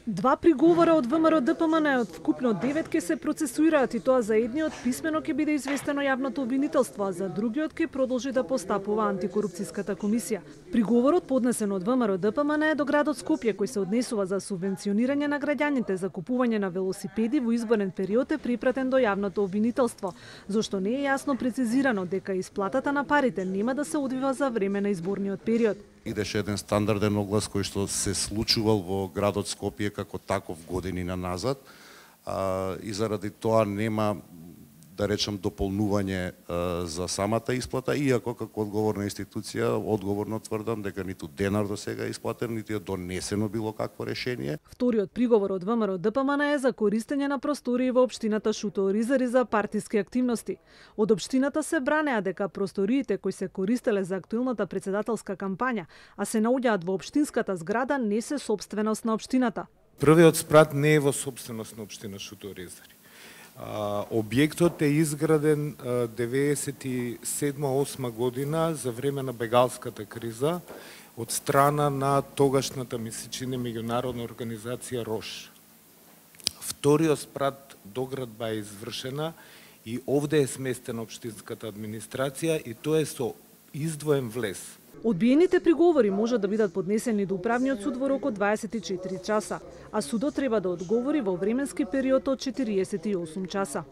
Два приговора од ВМРО ДПМН од вкупно 9 ќе се процесуираат и тоа за едниот писмено ќе биде известено јавното обвинителство, а за другиот ќе продолжи да постапува антикорупцијската комисија. Приговорот поднесен од ВМРО ДПМН е до градот Скопје, кој се однесува за субвенционирање на граѓаните за купување на велосипеди во изборен период е припратен до јавното обвинителство, зашто не е јасно прецизирано дека исплатата на парите нема да се одвива за време на изборниот период. Идеше еден стандарден оглас кој што се случувал во градот Скопје како таков години назад, и заради тоа нема, да речам, дополнување за самата исплата, иако како одговорна институција одговорно тврдам дека ниту денар до сега е исплатен, ниту е донесено било какво решение. Вториот приговор од ВМРО ДПМН е за користење на простории во општината Шутооризари за партиски активности. Од општината се бранеа дека просториите кои се користеле за актуелната председателска кампања, а се наоѓаат во општинската зграда, не се сопственост на општината. Првиот спрат не е во сопственост на општина Шутооризари. Објектот е изграден 97-8 година за време на бегалската криза од страна на тогашната, ми се чини, меѓународна организација РОШ. Вториот спрат доградба е извршена и овде е сместена општинската администрација и тоа е со издвоен влез. Одбиените приговори можат да бидат поднесени до управниот суд во рок од 24 часа, а судот треба да одговори во временски период од 48 часа.